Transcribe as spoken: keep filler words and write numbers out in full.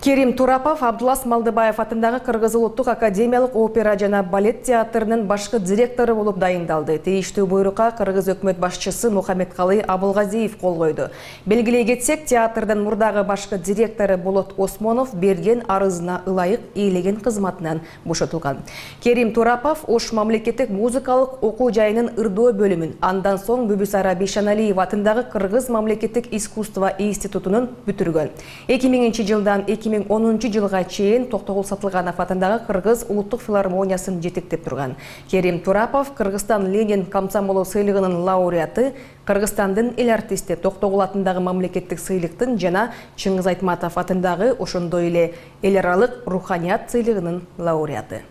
Керим Турапов Абдулас Малдыбаев атындагы Кыргыз улуттук академиялык опера жана балет театрынын башкы директору болуп дайындалды. Тийиштүү буйрукка Кыргыз өкмөт башчысы Мухаммедкалый Абылгазиев кол койду. Белгилей кетсек, театрдын мурдагы башкы директору Болот Осмонов берген арызына ылайык ээлеген кызматынан бошотулган. Керим Турапов Ош мамлекеттик музыкалык окуу жайынын ырдоо бөлүмүн, андан соң Бүбүсара Бейшаналиева атындагы Кыргыз мамлекеттик искусство институтунун бүтүргөн. эки миңинчи жылдан эки миң онунчу жылга чейин Токтогул Сатылганов атындагы Кыргыз улуттук филармониясын жетектеп турган. Керим Турапов Кыргызстан Ленин комсомолу сыйлыгынын лауреаты, Кыргызстандын эл артисти, Токтогул атындагы мамлекеттик сыйлыктын жана Чыңгыз Айтматов атындагы ошондой эле эл аралык руханият сыйлыгынын лауреаты.